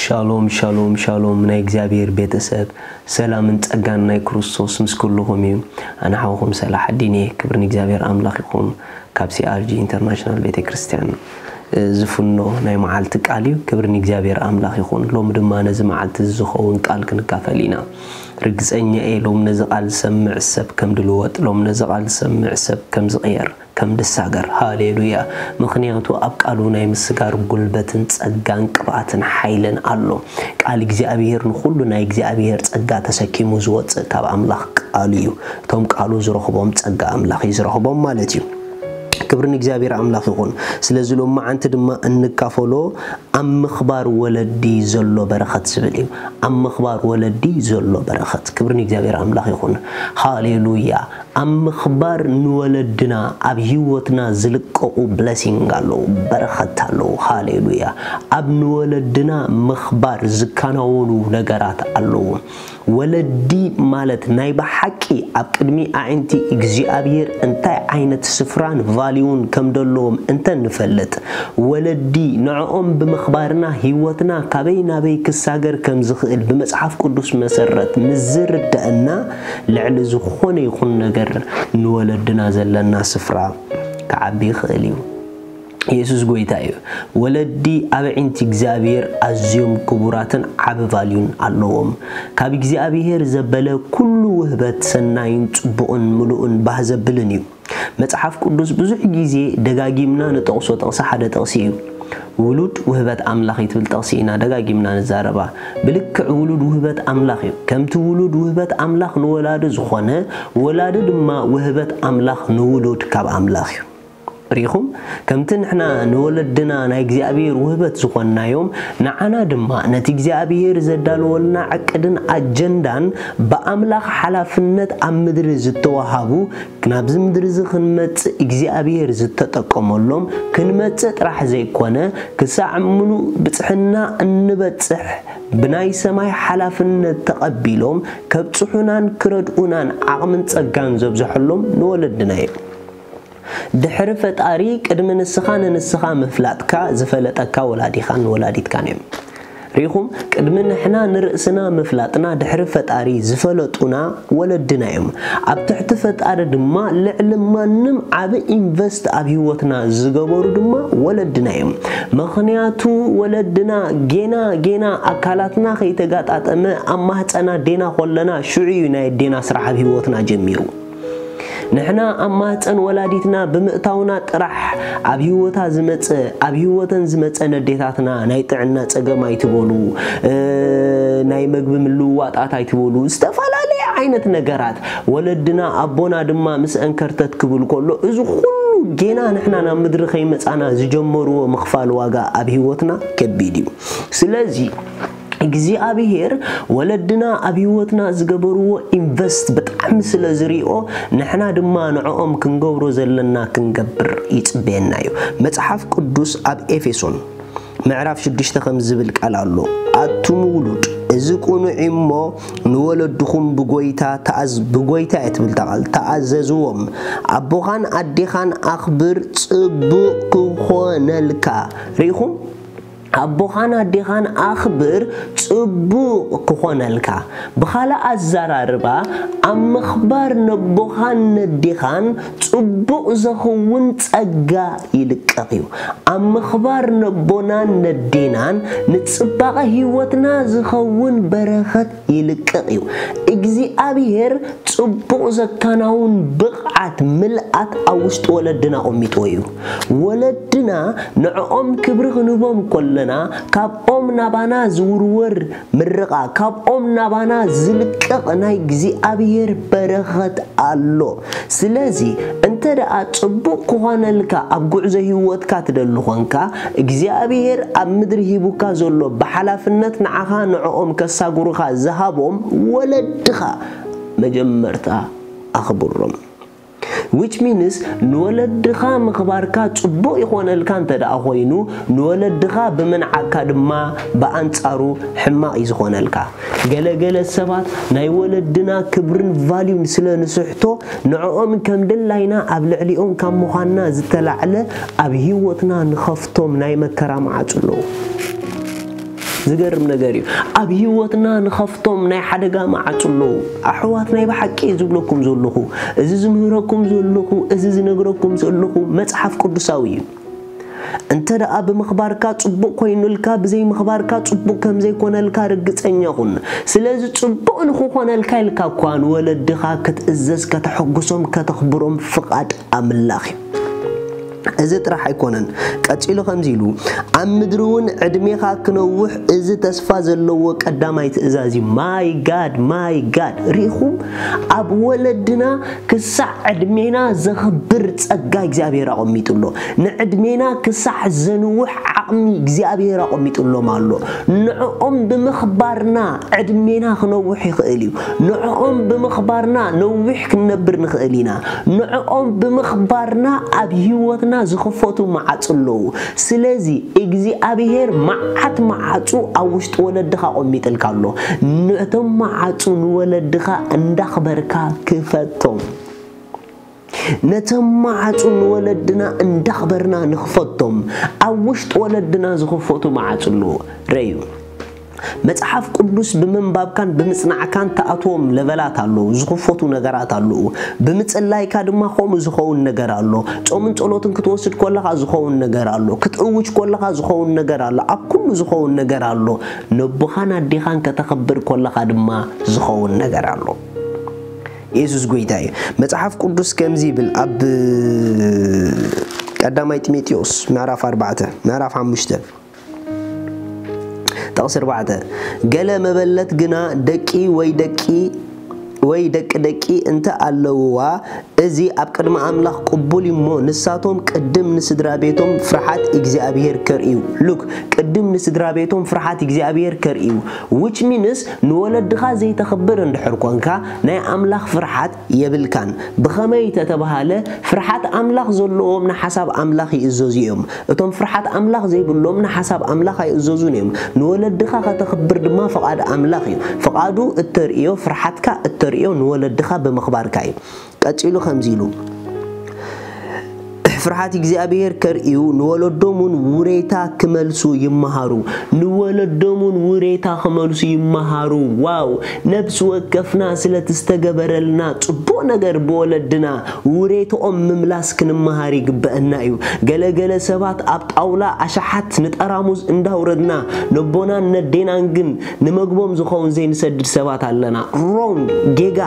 ሻሎም ሻሎም ሻሎም፣ ናይ እግዚኣብሔር ቤተሰብ፣ ሰላምን ጸጋን ናይ ክርስቶስ ምስ ኩልኹም እዩ። ኣነ ሓውኹም ሰላሕ ኣዲን እየ። ክብሪ ንእግዚኣብሔር ኣምላኽ ይኹን። ካብ ሲኣርጂ ኢንተርናሽናል ቤተ ክርስቲያን ዝፍኖ ናይ መዓልቲ ቃል እዩ። ክብሪ ንእግዚኣብሔር ኣምላኽ ይኹን። ሎሚ ድማ ነዚ መዓልቲ ዝኸውን ቃል ክንካፈል ኢና። ርግጸኛ እየ፣ ሎም ነዚ ቃል ዝሰምዕ ሰብ ከም ድልወጥ፣ ሎም ነዚ ቃል ዝሰምዕ ሰብ ከም ዝቕየር፣ ከም ድሳገር። ሃሌሉያ። ምኽንያቱ ኣብ ቃሉ ናይ ምስጋር ጉልበትን ጸጋን ቅብኣትን ሓይልን ኣሎ። ቃል እግዚኣብሔር ንኹሉ ናይ እግዚኣብሔር ጸጋ ተሰኪሙ ዝወጽእ ካብ ኣምላኽ ቃሉ እዩ። እቶም ቃሉ ዝረኽቦም ጸጋ ኣምላኽ እዩ ዝረኽቦም ማለት እዩ። ክብሪ ንእግዚኣብሔር ኣምላኽ ይኹን። ስለዚ ሎም መዓንቲ ድማ እንካፈሎ ኣብ ምኽባር ወለዲ ዘሎ በረኸት ዝብል እዩ። ኣብ ምኽባር ወለዲ ዘሎ በረኸት። ክብሪ ንእግዚኣብሔር ኣምላኽ ይኹን። ሃሌሉያ። ኣብ ምኽባር ንወለድና ኣብ ህይወትና ዝልቀቑ ብለሲንግ ኣለዉ፣ በረኸት ኣለዉ። ሃሌሉያ። ኣብ ንወለድና ምኽባር ዝከናወኑ ነገራት ኣለዉ። ወለዲ ማለት ናይ ብሓቂ ኣብ ቅድሚ ኣዒንቲ እግዚኣብሔር እንታይ ዓይነት ስፍራን ቫልዩን ከም ዘለዎም እንተንፈልጥ፣ ወለዲ ንዕኦም ብምኽባርና ህይወትና ካበይ ናበይ ክሳገር ከም ዝኽእል ብመጽሓፍ ቅዱስ መሰረት ምስ ዝርደአና፣ ልዕሊ ዝኾነ ይኹን ነገር ንወለድና ዘለና ስፍራ ክዓቢ ይኽእል እዩ። የሱስ ጎይታ እዩ። ወለዲ ኣብ ኣዒንቲ እግዚኣብሔር ኣዝዮም ክቡራትን ዓቢ ቫልዩን ኣለዎም። ካብ እግዚኣብሔር ዘበለ ኩሉ ውህበት ሰናይን ጽቡቕን ምሉእን ባህ ዘብልን እዩ። መጽሓፍ ቅዱስ ብዙሕ ግዜ ደጋጊምና ንጠቕሶ ጥቕሲ ሓደ ጥቕሲ እዩ። ውሉድ ውህበት ኣምላኽ እዩ ትብል ጥቕሲ ኢና ደጋጊምና ንዛረባ። ብልክዕ ውሉድ ውህበት ኣምላኽ እዩ። ከምቲ ውሉድ ውህበት ኣምላኽ ንወላዲ ዝኾነ፣ ወላዲ ድማ ውህበት ኣምላኽ ንውሉድ ካብ ኣምላኽ እዩ። ርኢኹም? ከምቲ ንሕና ንወለድና ናይ እግዚኣብሔር ውህበት ዝኾንናዮም፣ ንዓና ድማ ነቲ እግዚኣብሔር ዘዳለወልና ዕቅድን ኣጀንዳን ብኣምላኽ ሓላፍነት ኣብ ምድሪ ዝተዋሃቡ፣ ናብዚ ምድሪ እዚ ክንመጽእ እግዚኣብሔር ዝተጠቀመሎም፣ ክንመጽእ ጥራሕ ዘይኮነ፣ ክሳዕ ምሉእ ብጽሕና እንበጽሕ፣ ብናይ ሰማይ ሓላፍነት ተቐቢሎም ከብጽሑናን ክረድኡናን ዓቕምን ጸጋን ዘብዝሐሎም ንወለድና እዮም። ድሕሪ ፈጣሪ ቅድሚ ንስኻ ንንስኻ ምፍላጥካ ዝፈለጠካ ወላዲኻን ወላዲትካን እዮም። ርኢኹም? ቅድሚ ንሕና ንርእስና ምፍላጥና ድሕሪ ፈጣሪ ዝፈለጡና ወለድና እዮም። ኣብ ትሕቲ ፈጣሪ ድማ ልዕሊ ማንም ዓቢ ኢንቨስት ኣብ ህይወትና ዝገበሩ ድማ ወለድና እዮም። ምኽንያቱ ወለድና ጌና ጌና ኣካላትና ከይተጋጣጠመ ኣብ ማህፀና ዴና ኮለና ሽዑ እዩ ናይ ኣዴና ስራሕ ኣብ ህይወትና ጀሚሩ። ንሕና ኣብ ማህፀን ወላዲትና ብምእታውና ጥራሕ ኣብ ህይወታ ዝመፀ፣ ኣብ ህይወተን ዝመፀ ነዴታትና ናይ ጥዕና ፀገም ኣይትበሉ፣ እ፣ ናይ መግቢ ምልውዋጣት ኣይትበሉ፣ ዝተፈላለየ ዓይነት ነገራት ወለድና ኣቦና ድማ ምስ እንከርተት ክብል ከሎ እዚ ኩሉ ጌና ንሕና ናብ ምድሪ ከይመፃና ዝጀመርዎ ምኽፋል ዋጋ ኣብ ህይወትና ከቢድ እዩ። ስለዚ እግዚኣብሔር ወለድና ኣብ ህይወትና ዝገበርዎ ኢንቨስት ብጣዕሚ ስለ ዝሪኦ ንሕና ድማ ንዕኦም ክንገብሮ ዘለና ክንገብር ይጽበየና እዩ። መጽሓፍ ቅዱስ ኣብ ኤፌሶን ምዕራፍ ሽዱሽተ ከም ዝብል ቃል ኣሎ፣ ኣቱም ውሉድ እዚ ቅኑዕ እሞ ንወለድኹም ብጎይታ ተኣዝ ብጎይታ እያ ትብል እታ ቃል፣ ተኣዘዝዎም። ኣቦኻን ኣዴኻን ኣኽብር፣ ጽቡቕ ክኾነልካ። ርኢኹም? ኣቦኻን ኣዴኻን ኣኽብር፣ ጽቡቕ ክኾነልካ። ብኻልእ ኣዘራርባ፣ ኣብ ምኽባር ነቦኻን ነዴኻን ጽቡቕ ዘኸውን ጸጋ ይልቀቕ እዩ። ኣብ ምኽባር ነቦናን ነዴናን ንጽባቐ ህይወትና ዝኸውን በረኸት ይልቀቕ እዩ። እግዚኣብሔር ጽቡቕ ዘከናውን ብቕዓት ምልኣት ኣብ ውሽጢ ወለድና ኣቐሚጥዎ እዩ። ወለድና ንዕኦም ክብሪ ክንህቦም ከለና ካብኦም ናባና ዝውርወር ምርቓ፣ ካብኦም ናባና ዝልቀቕ ናይ እግዚኣብሔር በረኸት ኣሎ። ስለዚ እንተ ደኣ ጽቡቕ ክኾነልካ ኣብ ጉዕዞ ህይወትካ ትደሊ ኾንካ፣ እግዚኣብሔር ኣብ ምድሪ ሂቡካ ዘሎ ብሓላፍነት ንዓኻ ንዕኦም ከሳጉሩኻ ዝሃቦም ወለድኻ መጀመርታ ኣኽብሮም። Which means ንወለድኻ ምኽባርካ ጽቡቕ ይኾነልካ እንተ ደኣ ኾይኑ፣ ንወለድኻ ብምንዓቕካ ድማ ብኣንጻሩ ሕማቕ እዩ ዝኾነልካ። ገለ ገለ ሰባት ናይ ወለድና ክብርን ቫልዩን ስለ ንስሕቶ፣ ንዕኦም ከም ድላይና ኣብ ልዕሊኦም ካብ ምዃንና ዝተላዕለ ኣብ ህይወትና ንኸፍቶም ናይ መከራ መዓጹ ኣለዉ። ዝገርም ነገር እዩ። ኣብ ህይወትና ንኸፍቶም ናይ ሓደጋ መዓጹ ኣለዉ። ኣሕዋት፣ ናይ ብሓቂ እዩ ዝብለኩም ዘለኹ፣ እዚ ዝምህረኩም ዘለኹ፣ እዚ ዝነግረኩም ዘለኹ መጽሓፍ ቅዱሳዊ እዩ። እንተ ደኣ ብምኽባርካ ጽቡቕ ኮይኑልካ፣ ብዘይምኽባርካ ጽቡቕ ከም ዘይኮነልካ ርግጸኛ ኩን። ስለዚ ጽቡቕ ንኽኾነልካ ኢልካ እኳ ንወለድኻ ክትእዘዝ፣ ከተሐጉሶም፣ ከተኽብሮም ፍቓድ ኣምላኽ እዩ። እዚ ጥራሕ ኣይኮነን። ቀጺሉ ከምዚ ኢሉ፣ ኣብ ምድሪ እውን ዕድሜኻ ክነውሕ እዚ ተስፋ ዘለዎ ቀዳማይ ትእዛዝ እዩ። My God፣ my God። ርኢኹም፣ ኣብ ወለድና ክሳዕ ዕድሜና ዘኽብር ጸጋ እግዚኣብሔር ኣቐሚጡ ኣሎ። ንዕድሜና ክሳዕ ዘንውሕ ዓቕሚ እግዚኣብሔር ኣቐሚጡሎም ኣሎ። ንዕኦም ብምኽባርና ዕድሜና ክነውሕ ይኽእል እዩ። ንዕኦም ብምኽባርና ነዊሕ ክንነብር ንኽእል ኢና። ንዕኦም ብምኽባርና ኣብ ህይወትና ዝኽፈቱ መዓጹ ኣለዉ። ስለዚ እግዚኣብሔር መዓት መዓጹ ኣብ ውሽጢ ወለድኻ ኣቐሚጥልካ ኣሎ። ነቶም መዓጹ ንወለድኻ እንዳኽበርካ ክፈቶም። ነቶም መዓጹ ንወለድና እንዳኽበርና ንኽፈቶም። ኣብ ውሽጢ ወለድና ዝኽፈቱ መዓጹ ኣለዉ። ረዩ። መጽሓፍ ቅዱስ ብምንባብካን ብምጽናዕካን ትኣትዎም ለቨላት ኣለዉ፣ ዝኽፈቱ ነገራት ኣለዉ። ብምጽላይካ ድማ ከምኡ ዝኸውን ነገር ኣሎ። ጾምን ጸሎትን ክትወስድ ከለኻ ዝኸውን ነገር ኣሎ። ክትእውጅ ከለኻ ዝኸውን ነገር ኣሎ። ኣብ ኩሉ ዝኸውን ነገር ኣሎ። ነቦኻን ኣዴኻን ከተኽብር ከለኻ ድማ ዝኸውን ነገር ኣሎ። የሱስ ጐይታ እዩ። መጽሓፍ ቅዱስ ከምዚ ይብል፣ ኣብ ቀዳማይ ጢሞቴዎስ ምዕራፍ ኣርባዕተ፣ ምዕራፍ ሓሙሽተ፣ ጥቕሲ ኣርባዕተ፣ "ገለ መበለት ግና ደቂ ወይ ደቂ ወይ ደቂ ደቂ እንተ ኣለውዋ፣ እዚ ኣብ ቅድሚ ኣምላኽ ቅቡል እዩ እሞ፣ ንሳቶም ቅድም ንስድራ ቤቶም ፍርሓት እግዚኣብሔር ከርእዩ።" ሉክ፣ ቅድም ንስድራ ቤቶም ፍርሓት እግዚኣብሔር ከርእዩ። Which means ንወለድኻ ዘይተኽብር እንድሕር ኮንካ፣ ናይ ኣምላኽ ፍርሓት የብልካን። ብኸመይ ተተባሃለ፣ ፍርሓት ኣምላኽ ዘለዎም ንሓሳብ ኣምላኽ ይእዘዙ እዮም። እቶም ፍርሓት ኣምላኽ ዘይብሎም ንሓሳብ ኣምላኽ ኣይእዘዙን እዮም። ንወለድኻ ከተኽብር ድማ ፍቓድ ኣምላኽ እዩ። ፍቓዱ እተርእዮ፣ ፍርሓትካ እተርእዮ ንወለድኻ ብምኽባርካ እዩ። ቀጺሉ ከምዚ ኢሉ፣ ፍርሓት እግዚኣብሔር ከርእዩ፣ ንወለዶም እውን ውሬታ ክመልሱ ይመሃሩ። ንወለዶም እውን ውሬታ ክመልሱ ይመሃሩ። ዋው! ነብሲ ወከፍና ስለቲ ዝተገበረልና ጽቡቕ ነገር ብወለድና ውሬትኦም ምምላስ ክንመሃር ይግበአና እዩ። ገለ ገለ ሰባት ኣብ ጣውላ ኣሽሓት ንጠራሙዝ እንዳውረድና፣ ነቦናን ነዴናን ግን ንመግቦም ዝኸውን ዘይንሰድድ ሰባት ኣለና። ሮንግ፣ ጌጋ።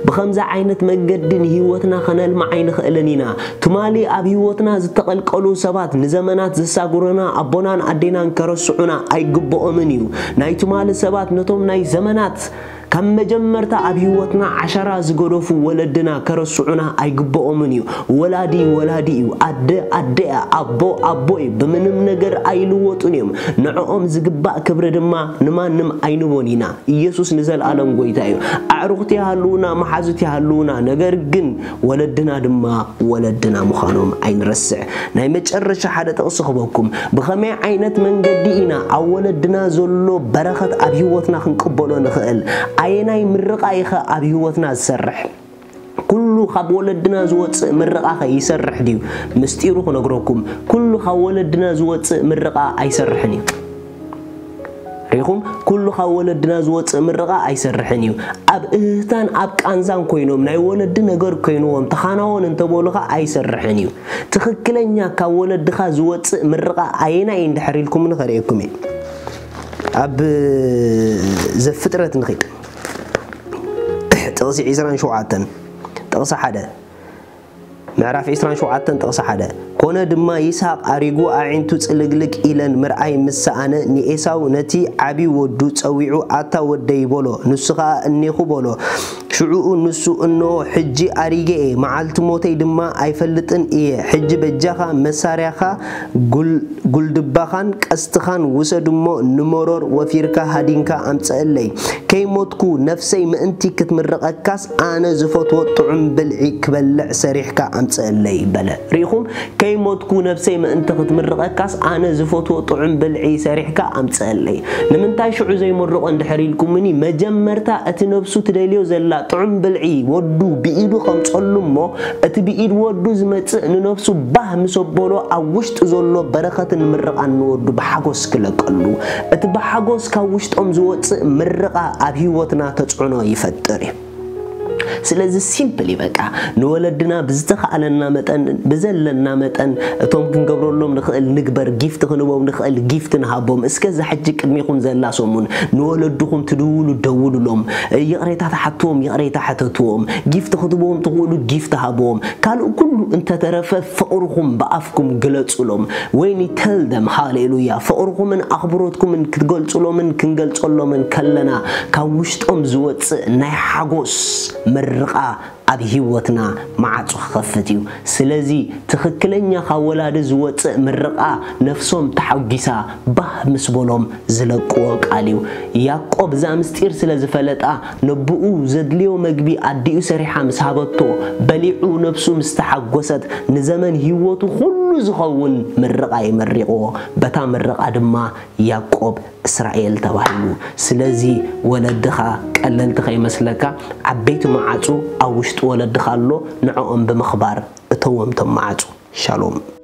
ብኸምዚ ዓይነት መገዲ ንህይወትና ኸነልምዓ ኣይንኽእልን ኢና። ትማሊ ኣብ ህይወትና ዝተቐልቀሉ ሰባት ንዘመናት ዘሳጉሩና ኣቦናን ኣዴናን ከረስዑና ኣይግብኦምን እዩ። ናይ ትማሊ ሰባት ነቶም ናይ ዘመናት ካብ መጀመርታ ኣብ ህይወትና ዓሻራ ዝገደፉ ወለድና ከረስዑና ኣይግብኦምን እዩ። ወላዲ ወላዲ እዩ። ኣደ ኣደ እያ። ኣቦ ኣቦ እዩ። ብምንም ነገር ኣይልወጡን እዮም። ንዕኦም ዝግባእ ክብሪ ድማ ንማንም ኣይንቦን ኢና። ኢየሱስ ንዘለኣለም ጐይታ እዩ። ኣዕሩኽቲ ይሃልዉና፣ መሓዙት ይሃልዉና፣ ነገር ግን ወለድና ድማ ወለድና ምዃኖም ኣይንረስዕ። ናይ መጨረሻ ሓደ ጥቕሲ ክበኩም። ብኸመይ ዓይነት መንገዲ ኢና ኣብ ወለድና ዘሎ በረኸት ኣብ ህይወትና ክንቅበሎ ንኽእል? ኣየናይ ምርቓ ኢኸ ኣብ ህይወትና ዝሰርሕ? ኩሉ ካብ ወለድና ዝወጽእ ምርቓኸ ይሰርሕ ድዩ? ምስጢሩ ክነግረኩም፣ ኩሉ ካብ ወለድና ዝወጽእ ምርቓ ኣይሰርሕን እዩ። ሪኹም፣ ኩሉ ካብ ወለድና ዝወጽእ ምርቓ ኣይሰርሕን እዩ። ኣብ እህህታን ኣብ ቃንዛን ኮይኖም፣ ናይ ወለዲ ነገር ኮይንዎም፣ ተኻናወን እንተበሉኻ ኣይሰርሕን እዩ። ትኽክለኛ ካብ ወለድኻ ዝወጽእ ምርቓ ኣየናይ እንድሕር ኢልኩም ንኸርእየኩም እየ። ኣብ ዘፍጥረት ንኺድ። ጥቕሲ ዒስራን ሸውዓተን፣ ጥቕሲ ሓደ። ምዕራፍ ዒስራን ሸውዓተን ጥቕሲ ሓደ፣ "ኮነ ድማ ይስሐቅ ኣሪጉ ኣዒንቱ ጽልግልግ ኢለን ምርኣይ ምስ ሰኣነ፣ ንኤሳው ነቲ ዓቢ ወዱ ጸዊዑ፣ ኣታ ወደይ" በሎ። ንሱ ኸኣ እኔኹ በሎ። ሽዑኡ ንሱ፣ "እንሆ ሕጂ ኣሪገ እየ፣ መዓልቲ ሞተይ ድማ ኣይፈልጥን እየ። ሕጂ በጃኻ መሳርያኻ፣ ጉል-፣ ጉልድባኻን ቀስትኻን ውሰድ እሞ ንመሮር ወፊርካ ሃዲንካ ኣምጽአለይ። ከይሞትኩ ነፍሰይ ምእንቲ ክትምርቐካስ ኣነ ዝፈትዎ ጥዑም ብልዒ ክበልዕ ሰሪሕካ ኣምጽአለይ" በለ። ርኢኹም? "ከይሞትኩ ነፍሰይ ምእንቲ ክትምርቐካስ ኣነ ዝፈትዎ ጥዑም ብልዒ ሰሪሕካ ኣምጽአለይ።" ንምንታይ ሽዑ ዘይመርቖ እንድሕር ኢልኩምኒ፣ መጀመርታ እቲ ነፍሱ ትደልዮ ዘላ ጥዑም ብልዒ ወዱ ብኢዱ ከምጸሉ እሞ፣ እቲ ብኢድ ወዱ ዝመጽእ ንነፍሱ ባህ ምስ ኣበሎ፣ ኣብ ውሽጢ ዘሎ በረኸትን ምርቓን ንወዱ ብሓጎስ ክለቀሉ። እቲ ብሓጎስ ካብ ውሽጦም ዝወጽእ ምርቓ ኣብ ህይወትና ተጽዕኖ ይፈጥር እዩ። ስለዚ ሲምፕል እዩ በቃ። ንወለድና ብዝተኻእለና መጠን፣ ብዘለና መጠን፣ እቶም ክንገብረሎም ንኽእል ንግበር፣ ጊፍት ክንቦም ንኽእል ጊፍት ንሃቦም። እስከ እዛ ሕጂ ቅድሚኹም ዘላ ሰሙን ንወለድኹም ትድውሉ ደውሉሎም፣ ይቕሬታ ትሓትዎም ይቕሬታ ሕተትዎም፣ ጊፍት ክትቦም ትኽእሉ ጊፍት ሃብዎም። ካልእ ኩሉ እንተተረፈ ፍቕርኹም ብኣፍኩም ግለጹሎም። When you tell them ሃሌሉያ፣ ፍቕርኹምን ኣኽብሮትኩምን ክትገልጹሎምን ክንገልጸሎምን ከለና፣ ካብ ውሽጦም ዝወጽእ ናይ ሓጎስ ምርቓ ኣብ ህይወትና ማዕጾ ክኸፍት እዩ። ስለዚ ትኽክለኛ ካብ ወላዲ ዝወጽእ ምርቓ ነፍሶም ተሓጒሳ ባህ ምስ በሎም ዝለቅዎ ቃል እዩ። ያዕቆብ እዛ ምስጢር ስለ ዝፈለጣ፣ ነብኡ ዘድልዮ መግቢ ኣዲኡ ሰሪሓ ምስ ሃበቶ፣ በሊዑ ነፍሱ ምስ ተሓጎሰት፣ ንዘመን ህይወቱ ኩሉ ዝኸውን ምርቓ እዩ መሪቕዎ። በታ ምርቓ ድማ ያዕቆብ እስራኤል ተባሂሉ። ስለዚ ወለድኻ ቀለልቲ ከይመስለካ፣ ዓበይቲ መዓጹ ኣብ ውሽጢ ወለድኻ ኣሎ፣ ንዕኦም ብምኽባር እተዎም ቶም መዓጹ። ሻሎም።